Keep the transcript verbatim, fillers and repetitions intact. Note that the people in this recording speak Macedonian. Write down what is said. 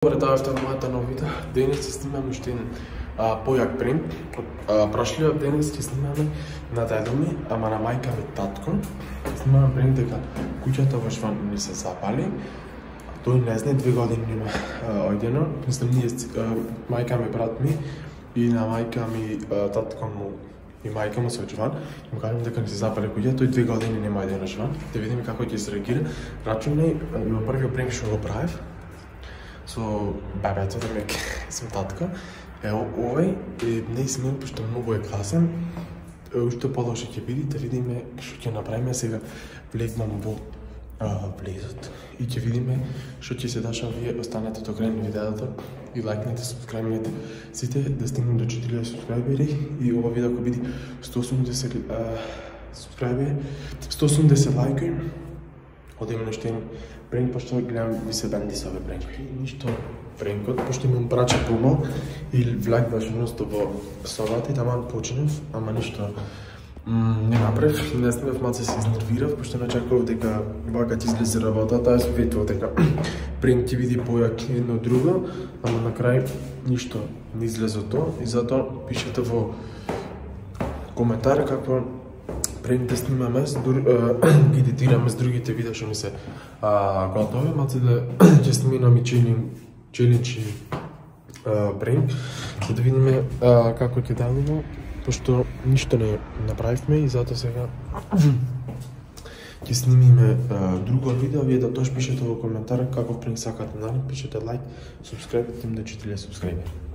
Добре, дојавте во мојата нов видео. Денес ќе снимаме уште еден појак принт. Прошлиот денес ќе снимаме на дедо ми, ама на мајка ми татко. Ќе снимаме принт дека куќата во Шван ни се запали. Тој не знае, две години нема ојдено. Мислам, ние мајка ми, брат ми и на мајка ми татко му и мајка му се од Шван. Му кажам дека ни се запали куќа, тој две години нема ојдено Шван. Да видиме како ќе се реагира. Рачунај во првиот принт што го правев со бебето, да ме сум татко. Ево, овој е не смел, пошто многу е класен. Уште подолше ќе биде, да видиме што ќе направиме. Сега влегнам во влезот и ќе видиме што ќе се дешава. Вие останете до крај на видеото и лајкнете, субскрајбнете сите да стигнем до четири илјади субскрајбери и ова видео ќе биде сто и осумдесет субскрајбери, сто и осумдесет лајки. Одиме на штен пренк, пошто гледам ви се бенди со ове пренк. Ништо пренкот, пошто имам браче помал и влегнаш едноста во собата и таман почнав, ама ништо не направив, не снимав, малце се изнервирав, пошто начекував дека вака ќе излезе работата, јас ветував дека пренк ќе биде појак едно друго, ама на крај ништо не излезе тоа и затоа пишете во коментар како пренк да снимаме, ги едитираме с другите видеа што ми се готови, малце да ќе снимаме челендж и пренк, за да видиме како ќе делува, пошто ништо не направивме и затоа сега ќе снимиме друго видео. Вие да тоа пишете во коментар каков пренк сакате, нали? Пишете лайк, субскрајб, да четири илјади субскрајбери.